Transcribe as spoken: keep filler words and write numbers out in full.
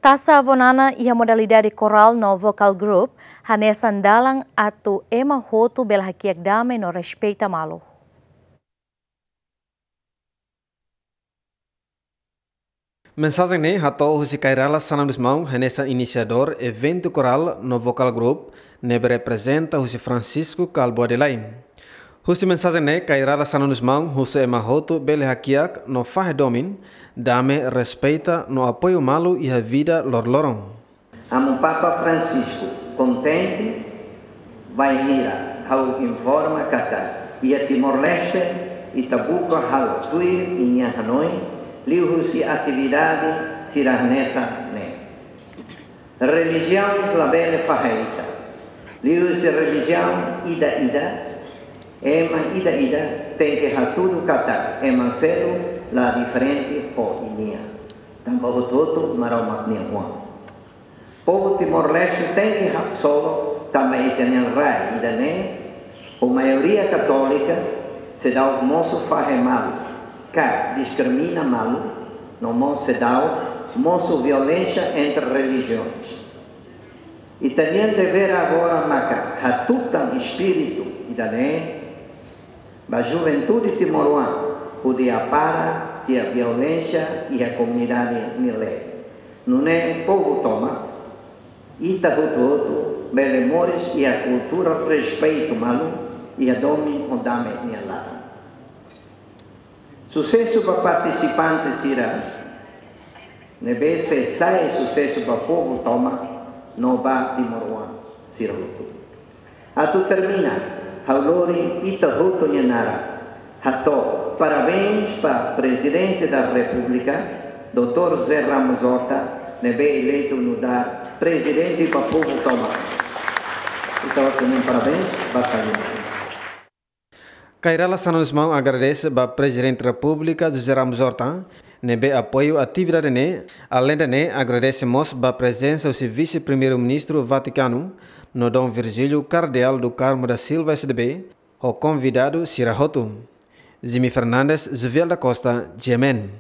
Taxa Avonana iha modalidade koral no vocal group hanesan dalan atu ema hotu bele hakiak dame no respeita malu. Mensajen ne'e hato'o husi Kay Rala Xanana dos Maun, hanesan inisiadór eventu koral no vocal group ne'ebé reprezenta husi Francisco Kalbuadelain. Husi mensajen ne'e, Kay Rala Xanana dos Maun husu ema hotu bele hakiak no fahe domin, dame, respeita no apoiu malu iha vida loroloron. Amu Papa Francisco kontente bainhira ha'u informa katak iha Timor-Leste ita buka halo tuir nia hanoin liuhusi atividade sira hanesan ne'e. Relijiaun labele fahe ita. Liuhusi relijiaun ida-ida, ema ida-ida tenke hatudu katak ema seluk la diferente ho nia. Tanba hotu-hotu Maromak nia oan. Povu Timor-Leste tenke haksolok tanba ita-nia rai ida-ne'e, ho maioria katólika, seidauk mosu fahe malu, ka diskrimina malu, no mós seidauk mosu violénsia entre relijiaun. Ita-nia devér agora maka hatutan espíritu ida-ne'e ba juventude timoroan hodi hapara tiha violénsia iha komunidade nia leet. Nune'e povu tomak, ita hotu-hotu bele moris iha kultura respeitu malu, iha domin ho dame nia laran. Susesu ba partisipante sira, ne'ebé sei sai susesu ba povu tomak no ba timoroan sira hotu. Atu termina, ha'u lori ita hotu nia naran hato'o parabéns ba Prezidente da Repúblika, doutór José Ramos Horta, ne'ebé eleitu nu'udar prezidente ba povu tomak. Ita hotu nia parabéns ba saúde. Kay Rala Xanana dos Maun agradese ba Prezidente Repúblika José Ramos Horta, ne'ebé apoiu atividade ne'e, aleinde ne'e agradese mós ba prezensa husi Vise-Primeiru-Ministru Vatikanu, no Dom Virgílio, Kardeál do Carmo da Silva S D B, ho konvidadu sira hotu. Jimmy Fernandes, Juviel da Costa, G M N.